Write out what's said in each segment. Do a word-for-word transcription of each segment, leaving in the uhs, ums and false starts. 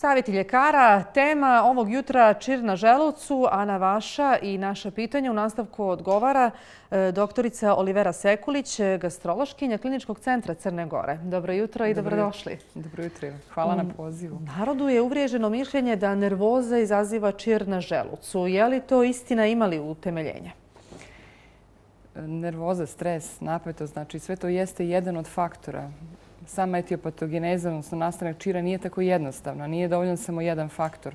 Savjeti ljekara, tema ovog jutra čir na želucu, a na vaša i naša pitanja u nastavku odgovara doktorica Olivera Sekulić, gastrološkinja Kliničkog centra Crne Gore. Dobro jutro i dobrodošli. Dobro jutro. Hvala na pozivu. U narodu je uvriježeno mišljenje da nervoza izaziva čir na želucu. Je li to istina, ima li utemeljenje? Nervoza, stres, napetost, znači sve to jeste jedan od faktora. Sama etiopatogeneza, odnosno nastanak čira, nije tako jednostavna. Nije dovoljan samo jedan faktor.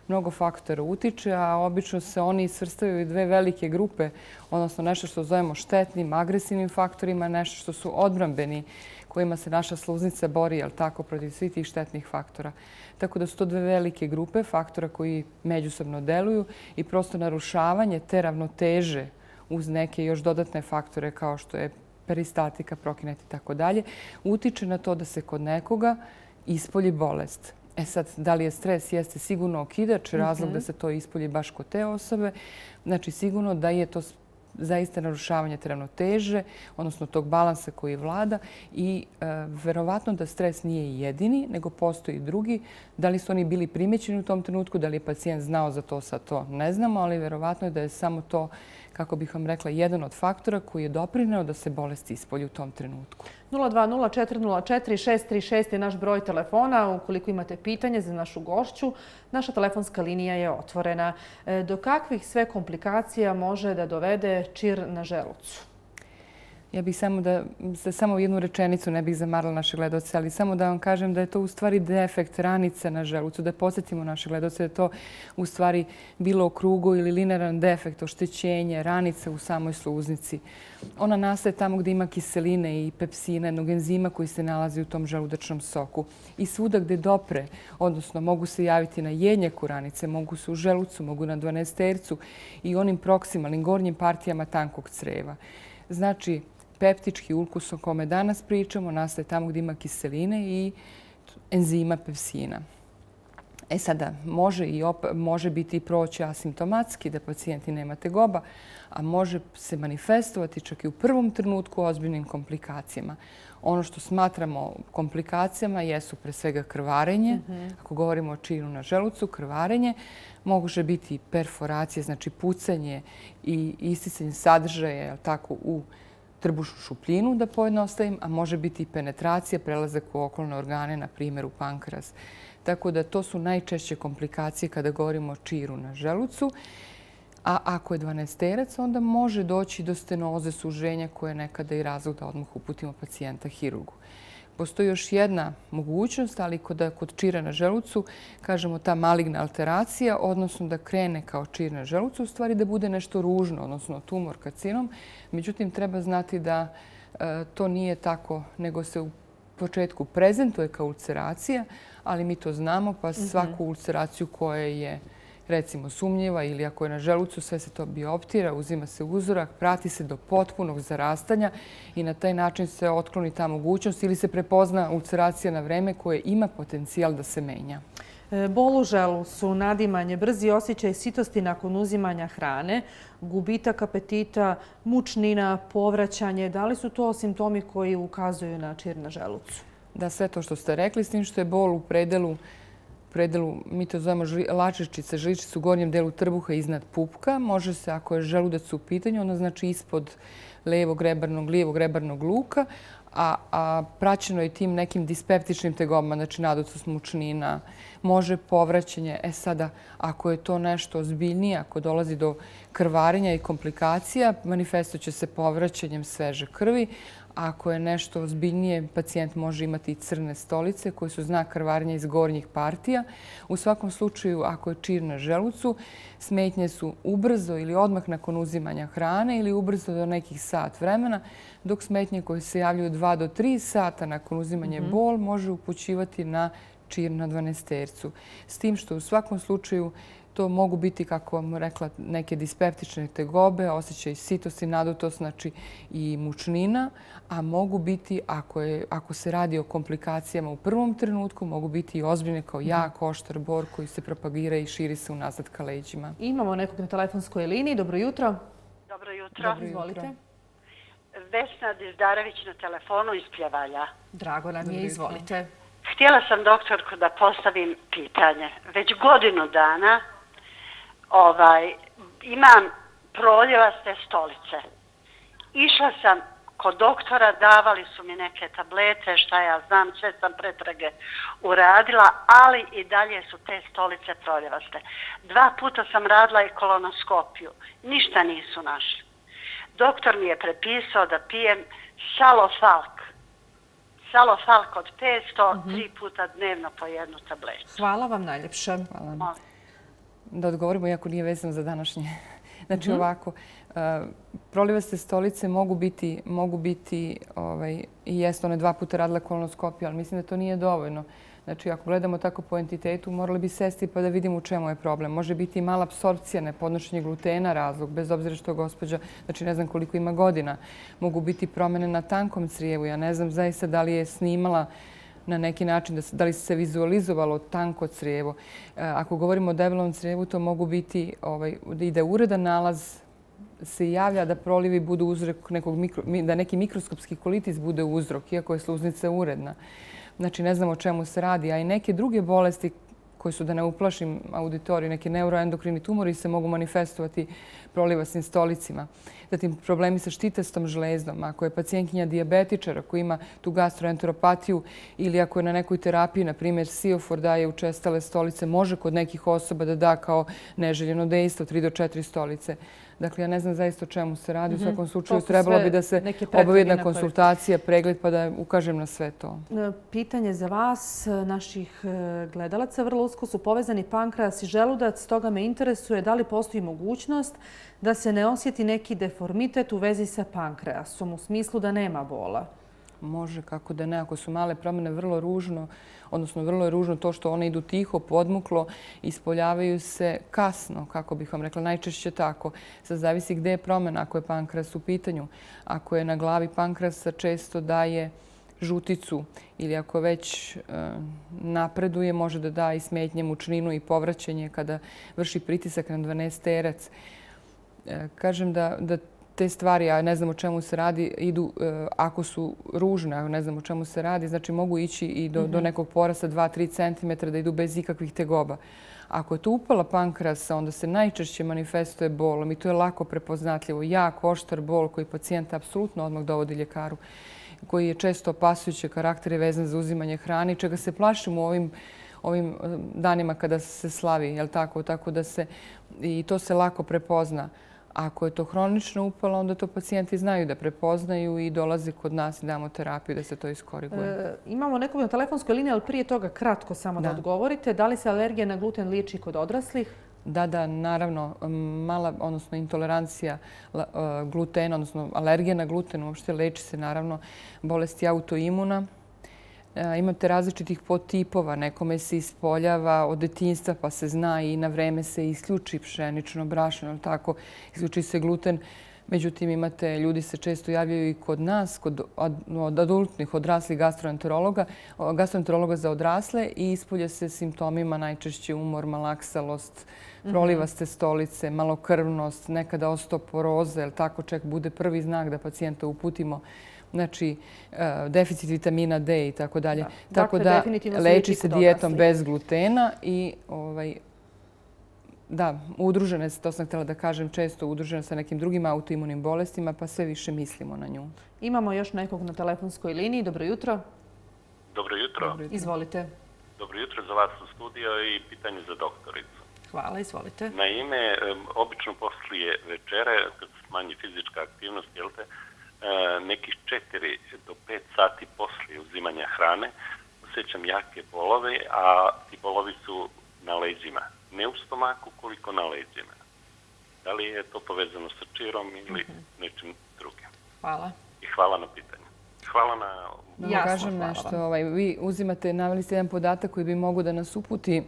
Mnogo faktora utiče, a obično se oni svrstavaju u dve velike grupe, odnosno nešto što zovemo štetnim, agresivnim faktorima, nešto što su odbrambeni, kojima se naša sluznica bori, jel tako, protiv svih tih štetnih faktora. Tako da su to dve velike grupe faktora koji međusobno deluju i prosto narušavanje te ravnoteže uz neke još dodatne faktore kao što je peristatika, prokinet i tako dalje, utiče na to da se kod nekoga ispolji bolest. E sad, da li je stres? Jeste sigurno okidač, razlog da se to ispolji baš kod te osobe. Znači, sigurno da je to zaista narušavanje te ravnoteže, odnosno tog balansa koji vlada i e, verovatno da stres nije jedini, nego postoji drugi. Da li su oni bili primećeni u tom trenutku, da li je pacijent znao za to, sad to ne znamo, ali verovatno je da je samo to, kako bih vam rekla, jedan od faktora koji je doprineo da se bolest ispolji u tom trenutku. nula dva nula četiri nula četiri šest tri šest je naš broj telefona. Ukoliko imate pitanje za našu gošću, naša telefonska linija je otvorena. Do kakvih sve komplikacija može da dovede čir na želucu? Ja bih samo da, samo jednu rečenicu, ne bih zamarala naše gledaoce, ali samo da vam kažem da je to u stvari defekt ranice na želucu, da podsjetimo naše gledaoce da je to u stvari bilo okrugo ili linearan defekt, oštećenje, ranice u samoj sluznici. Ona nastaje tamo gdje ima kiseline i pepsina, jednog enzima koji se nalazi u tom želudačnom soku. I svuda gdje dopre, odnosno mogu se javiti na jednjaku ranice, mogu se u želucu, mogu na dvanaestercu i onim proksimalnim gornjim partijama tankog creva. Znači, peptički ulkus o kome danas pričamo nastaje tamo gdje ima kiseline i enzima pepsina. E sada, može, i op može biti i proći asimptomatski da pacijenti nema tegoba, a može se manifestovati čak i u prvom trenutku ozbiljnim komplikacijama. Ono što smatramo komplikacijama jesu pre svega krvarenje. Mm-hmm. Ako govorimo o čiru na želucu, krvarenje može biti perforacija, znači pucanje i isticanje sadržaja tako, u trbušnu šupljinu, da pojednostavim, a može biti i penetracija, prelazak u okolne organe, na primjer u pankreas. Tako da to su najčešće komplikacije kada govorimo o čiru na želucu. A ako je dvanaesterac, onda može doći do stenoze, suženja koje je nekada i razlog da odmah uputimo pacijenta hirurgu. Postoji još jedna mogućnost, ali kod, kod čira na želucu, kažemo ta maligna alteracija, odnosno da krene kao čir na želucu, u stvari da bude nešto ružno, odnosno tumor, karcinom. Međutim, treba znati da e, to nije tako, nego se u početku prezentuje kao ulceracija, ali mi to znamo, pa svaku ulceraciju koja je recimo sumnjiva ili ako je na želucu, sve se to bioptira, uzima se uzorak, prati se do potpunog zarastanja i na taj način se otkloni ta mogućnost ili se prepozna ulceracija na vreme koje ima potencijal da se menja. Bol u želucu, nadimanje, brzi osjećaj sitosti nakon uzimanja hrane, gubitak apetita, mučnina, povraćanje. Da li su to simptomi koji ukazuju na čir na želucu? Da, sve to što ste rekli, s tim što je bol u predelu predelu, mi to zovemo lačičice, žličice u gornjem delu trbuha iznad pupka. Može se, ako je želudac u pitanju, ono znači ispod levog rebarnog, lijevog rebarnog luka, a, a praćeno je tim nekim dispeptičnim tegobama, znači nadutost, mučnina, može povraćanje. E sada, ako je to nešto ozbiljnije, ako dolazi do krvarenja i komplikacija, manifestovat će se povraćanjem sveže krvi. Ako je nešto ozbiljnije, pacijent može imati i crne stolice koje su znak krvarenja iz gornjih partija. U svakom slučaju, ako je čir na želucu, smetnje su ubrzo ili odmah nakon uzimanja hrane ili ubrzo do nekih sat vremena, dok smetnje koje se javljaju dva do tri sata nakon uzimanja mm-hmm. bol može upućivati na čir na dvanaestercu. S tim što u svakom slučaju to mogu biti, kako vam rekla, neke dispeptične tegobe, osjećaj sitosti, nadutost, znači i mučnina, a mogu biti, ako, je, ako se radi o komplikacijama u prvom trenutku, mogu biti i ozbiljne kao jak, oštar bor koji se propagira i širi se unazad ka leđima. Imamo nekog na telefonskoj liniji. Dobro jutro. Dobro jutro. Dobro, izvolite. Vesna Dizdarević na telefonu iz Pljevalja. Drago nam je, izvolite. Htjela sam doktorku da postavim pitanje. Već godinu dana ovaj, imam proljevaste stolice. Išla sam kod doktora, davali su mi neke tablete, šta ja znam, sve sam pretrage uradila, ali i dalje su te stolice proljevaste. Dva puta sam radila i kolonoskopiju. Ništa nisu našli. Doktor mi je prepisao da pijem salofalk. Salofalk od petsto, mm-hmm. tri puta dnevno po jednu tabletu. Hvala vam najljepše. Hvala. Molim. Da odgovorimo, iako nije vezano za današnje. Znači mm-hmm. ovako, uh, prolivaste stolice mogu biti, mogu biti ovaj, i jest one dva puta radila kolonoskopiju, ali mislim da to nije dovoljno. Znači, ako gledamo tako po entitetu, morali bi sesti pa da vidimo u čemu je problem. Može biti i mala apsorpcija, nepodnošenje glutena razlog, bez obzira što gospođa, znači ne znam koliko ima godina. Mogu biti promjene na tankom crijevu. Ja ne znam zaista da li je snimala na neki način, da li se vizualizovalo tanko crijevo. Ako govorimo o debelom crijevu, to mogu biti ovaj, i da uredan nalaz se javlja da prolivi budu uzrok nekog mikro, da neki mikroskopski kolitis bude uzrok, iako je sluznica uredna. Znači, ne znam o čemu se radi, a i neke druge bolesti koje su, da ne uplašim auditoriju, neki neuroendokrini tumori se mogu manifestovati prolivasnim stolicima. Zatim, problemi sa štitastom žlezdom. Ako je pacijentkinja dijabetičar, ako ima tu gastroenteropatiju ili ako je na nekoj terapiji, na primjer, Siofor daje učestale stolice, može kod nekih osoba da da kao neželjeno dejstvo tri do četiri stolice. Dakle, ja ne znam zaista o čemu se radi. U svakom slučaju trebalo bi da se obavi jedna konsultacija, pregled, pa da ukažem na sve to. Pitanje za vas, naših gledalaca. Vrlo usko su povezani pankreas i želudac. Stoga me interesuje da li postoji mogućnost da se ne osjeti neki deformitet u vezi sa pankreasom, u smislu da nema bola. Može, kako da ne. Ako su male promjene, vrlo ružno, odnosno vrlo je ružno to što one idu tiho, podmuklo, ispoljavaju se kasno, kako bih vam rekla, najčešće tako. Sad zavisi gde je promjena, ako je pankreas u pitanju. Ako je na glavi pankreasa, često daje žuticu ili ako već e, napreduje, može da da i smetnje mučninu i povraćanje kada vrši pritisak na dvanaesterac. E, kažem da, da te stvari, ja ne znam o čemu se radi, idu e, ako su ružne, ako ne znam o čemu se radi, znači mogu ići i do, mm-hmm. do nekog porasta dva do tri centimetra da idu bez ikakvih tegoba. Ako je to upala pankreasa, onda se najčešće manifestuje bolom i to je lako prepoznatljivo. Jak, oštar bol koji pacijenta apsolutno odmah dovodi ljekaru, koji je često opasujući karakter i vezan za uzimanje hrane, čega se plašimo u ovim ovim danima kada se slavi, jel tako? Tako da se, i to se lako prepozna. Ako je to hronično upalo, onda to pacijenti znaju da prepoznaju i dolaze kod nas i damo terapiju da se to iskoriguje. E, imamo nekog na telefonskoj liniji, ali prije toga kratko samo da, da odgovorite. Da li se alergija na gluten liječi kod odraslih? Da, da, naravno, mala, odnosno intolerancija glutena, odnosno alergija na gluten uopšte leči se naravno bolesti autoimuna. Imate različitih podtipova. Nekome se ispoljava od detinjstva pa se zna i na vreme se isključi pšenično brašno, tako, isključi se gluten. Međutim, imate, ljudi se često javljaju i kod nas, kod od adultnih, odraslih gastroenterologa, gastroenterologa za odrasle i ispolje se simptomima najčešće umor, malaksalost, prolivaste stolice, malokrvnost, nekada osteoporoza, jer tako čak bude prvi znak da pacijenta uputimo, znači deficit vitamina D i tako dalje. Tako da leči se dijetom bez glutena i ovaj, da, udružene, to sam htjela da kažem, često udružene sa nekim drugim autoimunim bolestima, pa sve više mislimo na nju. Imamo još nekog na telefonskoj liniji. Dobro jutro. Dobro jutro. Dobro jutro. Izvolite. Dobro jutro za vas u studiju i pitanje za doktoricu. Hvala, izvolite. Naime, obično poslije večere, kad se smanji fizička aktivnost, jel te, nekih četiri do pet sati poslije uzimanja hrane osjećam jake bolove, a ti bolovi su na leđima. Ne u stomaku, koliko na leđima. Da li je to povezano sa čirom ili mm-hmm. nečim drugim? Hvala. I hvala na pitanju. Hvala na... Da ja kažem nešto. Ovaj, vi uzimate, naveli ste jedan podatak koji bi mogu da nas uputi,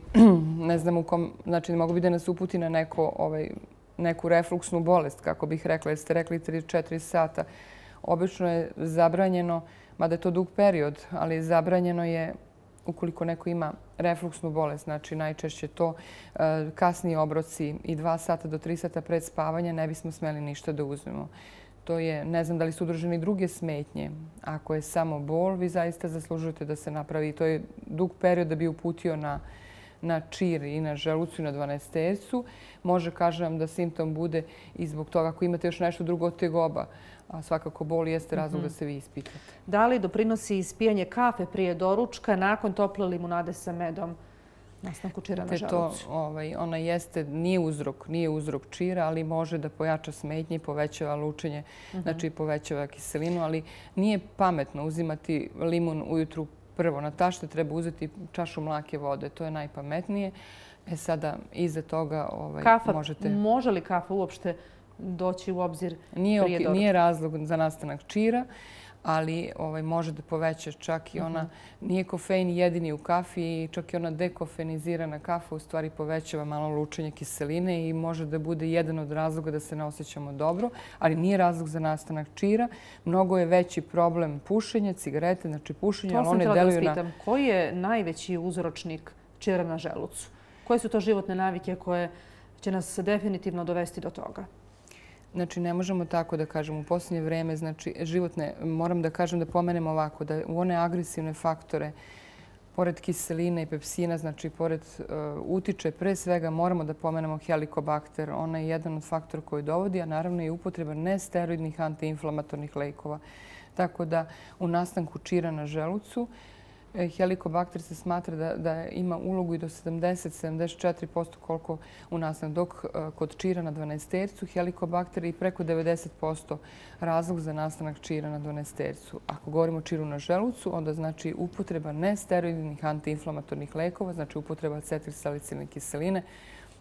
ne znam u kom, znači mogu bi da nas uputi na neko, ovaj, neku refluksnu bolest, kako bih rekla, jer ste rekli tri do četiri sata. Obično je zabranjeno, mada je to dug period, ali zabranjeno je ukoliko neko ima refluksnu bolest, znači najčešće to kasni obroci i dva sata do tri sata pred spavanja ne bismo smeli ništa da uzmemo. To je, ne znam da li su udružene i druge smetnje. Ako je samo bol, vi zaista zaslužujete da se napravi. To je dug period da bi uputio na na čir i na želucu i na dvanaestercu. Može, kažem, da simptom bude i zbog toga ako imate još nešto drugo od tegoba. A svakako bol jeste razlog da se vi ispitate. Da li doprinosi ispijanje kafe prije doručka nakon tople limunade sa medom nastanku čira na želucu? Ona jeste, nije uzrok, nije uzrok čira, ali može da pojača smetnje i povećava lučenje, znači povećava kiselinu, ali nije pametno uzimati limun ujutru prvo. Na tašte treba uzeti čašu mlake vode, to je najpametnije. E sada, iza toga možete... Kafa, može li kafa uopšte doći u obzir prije doručka? Nije razlog za nastanak čira, ali može da poveća čak i ona, nije kofein jedini u kafi i čak i ona dekofeinizirana kafa u stvari povećava malo lučenje kiseline i može da bude jedan od razloga da se ne osjećamo dobro, ali nije razlog za nastanak čira. Mnogo je veći problem pušenje, cigarete, znači pušenje, ali one deluju na... To sam htjela da vas pitam. Koji je najveći uzročnik čira na želucu? Koje su to životne navike koje će nas definitivno dovesti do toga? Znači, ne možemo tako da kažemo. U posljednje vreme, znači, životne, moram da kažem da pomenem ovako, da u one agresivne faktore, pored kiseline i pepsina, znači, pored utiče, pre svega moramo da pomenemo helikobakter. Ona je jedan od faktora koji dovodi, a naravno i upotreba nesteroidnih antiinflamatornih lekova. Tako da u nastanku čira na želucu helikobakter se smatra da ima ulogu i do sedamdeset do sedamdeset četiri posto koliko u nastanku. Dok kod čira na dvanaestercu helikobakter je i preko devedeset posto razlog za nastanak čira na dvanaestercu. Ako govorimo o čiru na želucu, onda znači upotreba nesteroidnih antiinflamatornih lekova, znači upotreba acetilsalicilne kiseline.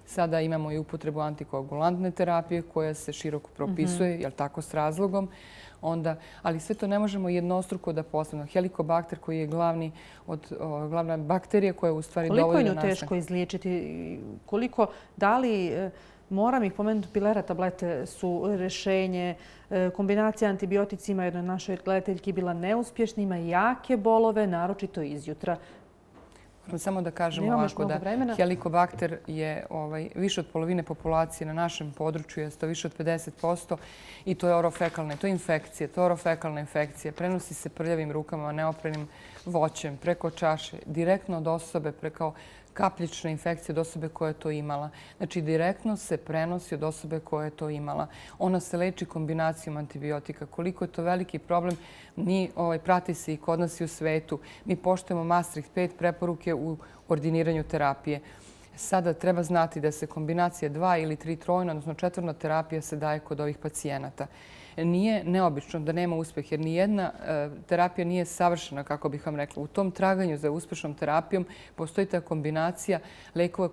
Sada imamo i upotrebu antikoagulantne terapije koja se široko propisuje, jel tako, s razlogom. Onda, ali sve to ne možemo jednostruko da postavimo. Helikobakter koji je glavni od, o, glavna bakterija koja u stvari dovodi do nastanka. Koliko je nju teško izliječiti? Koliko, da li, moram ih pomenuti, pilera tablete su rješenje, kombinacija antibioticima, jednoj našoj gledateljki bila neuspješna, ima jake bolove, naročito izjutra. Samo da kažemo ovako da helikobakter je više od polovine populacije na našem području, je to više od pedeset posto i to je orofekalna, to je infekcija, to je orofekalna infekcija. Prenosi se prljavim rukama, neoprenim voćem, preko čaše, direktno od osobe, preko kapljične infekcije od osobe koja je to imala. Znači, direktno se prenosi od osobe koja je to imala. Ona se leči kombinacijom antibiotika. Koliko je to veliki problem, mi prati se i kod nas i u svetu. Mi poštujemo Maastricht pet preporuke u ordiniranju terapije. Sada treba znati da se kombinacija dva ili tri trojna, odnosno četvrna terapija se daje kod ovih pacijenata. Nije neobično da nema uspjeh, jer nijedna terapija nije savršena, kako bih vam rekla. U tom traganju za uspješnom terapijom postoji ta kombinacija lekova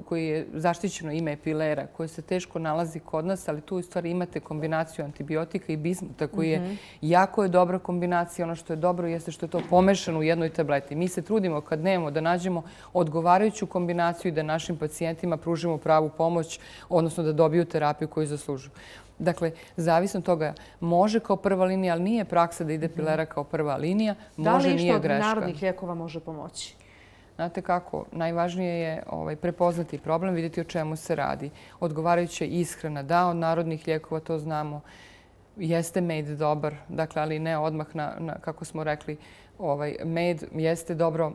koji je zaštićeno ime pilera, koje se teško nalazi kod nas, ali tu u stvari imate kombinaciju antibiotika i bismuta, koji je jako je dobra kombinacija. Ono što je dobro jeste što je to pomešano u jednoj tableti. Mi se trudimo kad nemamo da nađemo odgovarajuću kombinaciju i da našim pacijentima pružimo pravu pomoć, odnosno da dobiju terapiju koju zaslužuju. Dakle, zavisno od toga, može kao prva linija, ali nije praksa da ide pilera kao prva linija. Može, nije greška. Da li išta od narodnih lijekova može pomoći? Znate kako, najvažnije je prepoznati problem, vidjeti o čemu se radi. Odgovarajuća ishrana, da, od narodnih lijekova to znamo. Jeste med dobar, dakle, ali ne odmah, kako smo rekli, med jeste dobro,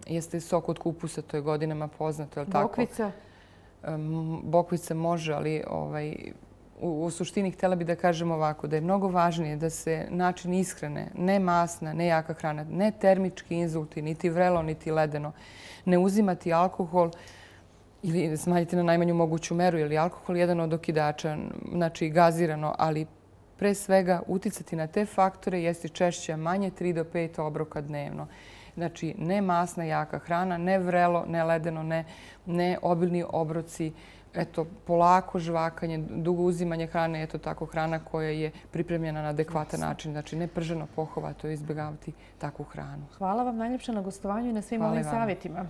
jeste sok od kupusa, to je godinama poznato, je li tako? Bokvica? Bokvica može, ali u suštini htjela bih da kažem ovako, da je mnogo važnije da se način ishrane, ne masna, ne jaka hrana, ne termički inzulti, niti vrelo, niti ledeno, ne uzimati alkohol ili smanjiti na najmanju moguću meru, jer je alkohol jedan od okidača, znači gazirano, ali pre svega uticati na te faktore jeste češće manje tri do pet obroka dnevno. Znači, ne masna jaka hrana, ne vrelo, ne ledeno, ne obilni obroci, eto, polako žvakanje, dugo uzimanje hrane, eto tako hrana koja je pripremljena na adekvatan način. Znači, ne prženo pohova, to je izbjegavati takvu hranu. Hvala vam najljepše na gostovanju i na svim ovim savjetima.